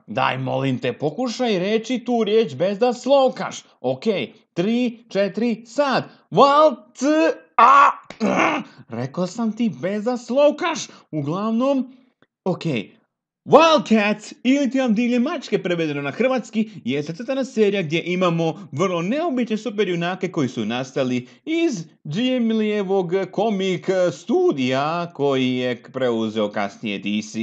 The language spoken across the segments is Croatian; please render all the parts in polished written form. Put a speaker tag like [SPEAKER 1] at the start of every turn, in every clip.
[SPEAKER 1] Daj, molim te, pokušaj reći tu riječ bez da slovkaš. Ok, 3, 4, sad. Rekao sam ti bez da slovkaš. Uglavnom, ok. Wildcats, ili ti vam divlje mačke prevedeno na hrvatski, je crtana serija gdje imamo vrlo neobične superjunake koji su nastali iz Jim Leeovog komik studija koji je preuzeo kasnije DC.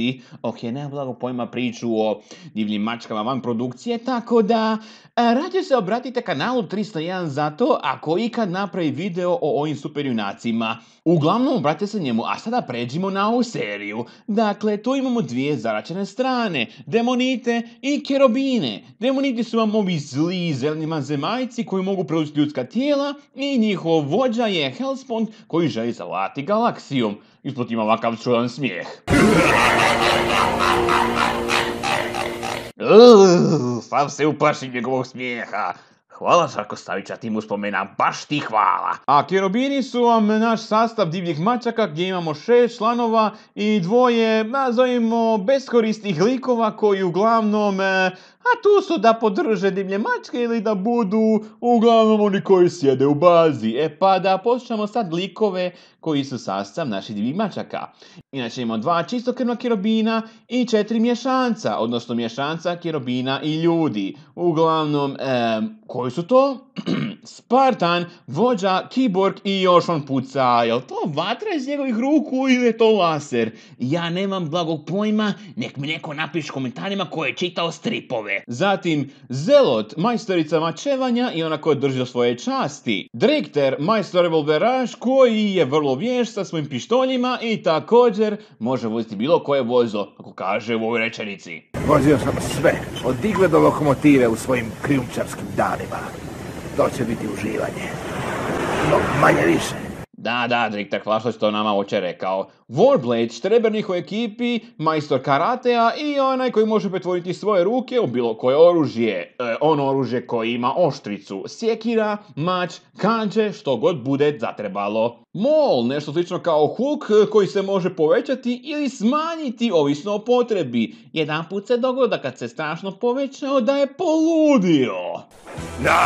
[SPEAKER 1] Ok, nemam blago pojma priču o divljim mačkama van produkcije, tako da rađe se obratite kanalu 301 za to ako ikad napravi video o ovim superjunacima. Uglavnom, obratite se njemu, a sada pređimo na ovu seriju. Dakle, tu imamo dvije zaračene strane, demonite i kerobine. Demoniti su vam ovi zli zeleni vanzemaljci koji mogu preuzeti ljudska tijela i njihov vođa je Hellspawn koji želi zavladati galaksijom. Ispod ima ovakav čudan smijeh. Sam se uplašim njegovog smijeha. Hvala Žarko Savića, ti mu spomena, baš ti hvala. A kerobini su vam naš sastav divljih mačaka gdje imamo 6 članova i 2, nazovimo, beskorisnih likova koji uglavnom, tu su da podrže divlje mačke ili da budu uglavnom oni koji sjede u bazi. Pa da poslušamo sad likove koji su sastav naših divljih mačaka. Inače imamo 2 čistokrvna kerobina i 4 mješanca, odnosno mješanca kerobina i ljudi. Uglavnom, koji su to? Spartan, vođa, kiborg i još on puca. Jel to vatra iz njegovih ruku ili je to laser? Ja nemam blagog pojma, nek mi neko napiše komentarima ko je čitao stripove. Zatim, Zelot, majstorica mačevanja i ona koja drži do svoje časti. Drikter, majstor revolveraš koji je vrlo vješt sa svojim pištoljima i također može voziti bilo koje vozilo, kako kaže u ovoj rečenici.
[SPEAKER 2] Vozio sam sve, od igle do lokomotive u svojim krijumčarskim danima. To će biti uživanje. No, manje više.
[SPEAKER 1] Da, Drikter, hvala što si to nama oče rekao. Warblade, štrebernik u ekipi, majstor karatea i onaj koji može pretvoriti svoje ruke u bilo koje oružje. Ono oružje koje ima oštricu, sjekira, mač, kanđe, što god bude zatrebalo. Mol, nešto slično kao Hulk koji se može povećati ili smanjiti ovisno o potrebi. Jedanput se dogoda kad se strašno povećao da je poludio.
[SPEAKER 2] Ne!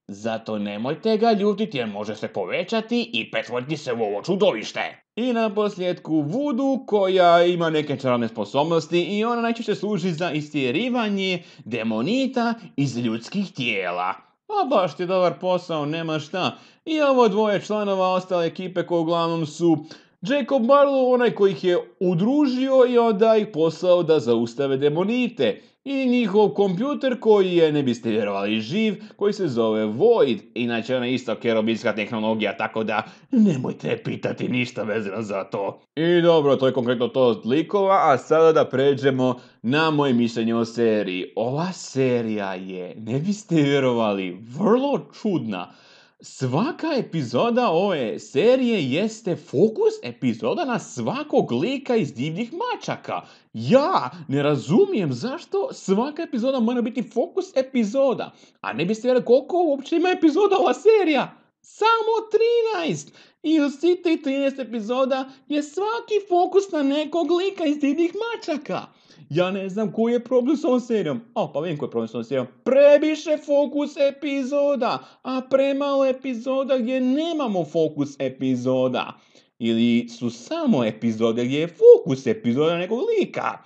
[SPEAKER 1] Zato nemojte ga ljutiti jer može se povećati i pretvoriti se u ovo čudovište. I na posljedku Voodoo koja ima neke čarobne sposobnosti i ona najčešće služi za istjerivanje demonita iz ljudskih tijela. A baš ti dobar posao, nema šta. I ovo 2 članova ostale ekipe koji uglavnom su Jacob Marlowe, onaj koji ih je udružio i onda ih poslao da zaustave demonite. I njihov kompjuter koji je, ne biste vjerovali, živ, koji se zove Void. Inače, ona je isto kerobinska tehnologija, tako da nemojte pitati ništa vezano za to. I dobro, to je konkretno to od likova, a sada da pređemo na moje mišljenje o seriji. Ova serija je, ne biste vjerovali, vrlo čudna. Svaka epizoda ove serije jeste fokus epizoda na svakog lika iz divljih mačaka. Ja ne razumijem zašto svaka epizoda mora biti fokus epizoda. A ne biste vjerovali koliko uopće ima epizoda ova serija? Samo 13! I u svih tih 13 epizoda je svaki fokus na nekog lika iz divljih mačaka. Ja ne znam koji je problem s ovom serijom. Pa vidim koji je problem s ovom serijom. Previše fokus epizoda, a premalo epizoda gdje nemamo fokus epizoda. Ili su samo epizode gdje je fokus epizoda nekog lika.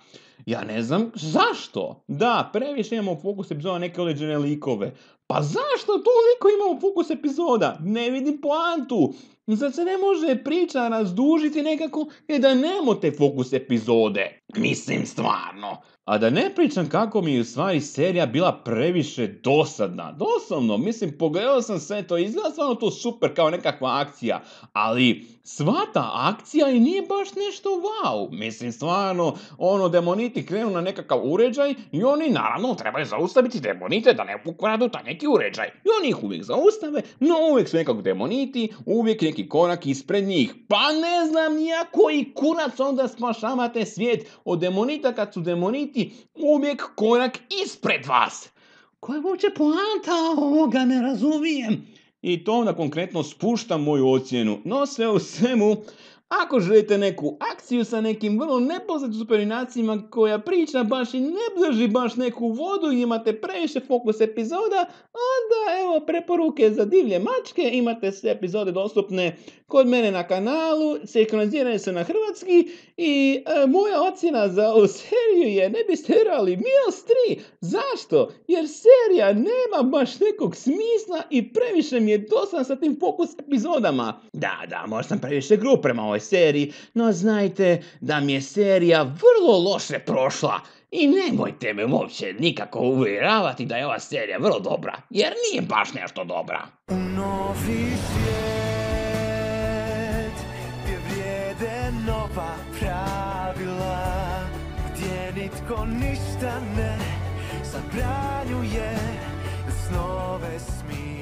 [SPEAKER 1] Ja ne znam zašto. Da, previše imamo fokus epizoda neke određene likove. Pa zašto toliko imamo fokus epizoda? Ne vidim poantu. Zar se ne može priča razdužiti nekako i da nemate fokus epizode? Mislim stvarno. A da ne pričam kako mi je u stvari serija bila previše dosadna. Doslovno, mislim, pogledao sam sve to, izgleda stvarno to super kao nekakva akcija. Ali sva ta akcija i nije baš nešto wow. Mislim stvarno, demoniti krenu na nekakav uređaj i oni naravno trebaju zaustaviti demonite da ne pokradu taj neki uređaj. I oni ih uvijek zaustave, no uvijek su nekako demoniti, uvijek neki korak ispred njih. Pa ne znam nija koji kurac onda spašavate svijet od demonita kad su demoniti uvijek korak ispred vas. koja je uopće poanta ovoga, ne razumijem. I to onda konkretno spušta moju ocjenu. No sve u svemu, ako želite neku akciju sa nekim vrlo nepoznatim superjunacijima koja priča baš i ne drži baš neku vodu i imate previše fokus epizoda, onda evo preporuke za divlje mačke, imate sve epizode dostupne kod mene na kanalu, sinkronizirane su na hrvatski i moja ocjena za ovu seriju je ne biste vjerovali -3. Zašto? Jer serija nema baš nekog smisla i previše mi je dosadna sa tim fokus epizodama. Da, možda sam previše grub prema ovoj seriji, no znajte da mi je serija vrlo loše prošla. I nemojte me uopće nikako uvjeravati da je ova serija vrlo dobra, jer nije baš nešto dobra.
[SPEAKER 3] U novi svijet gdje vrijede nova pravila, gdje nitko ništa ne zabranjuje, snove smije.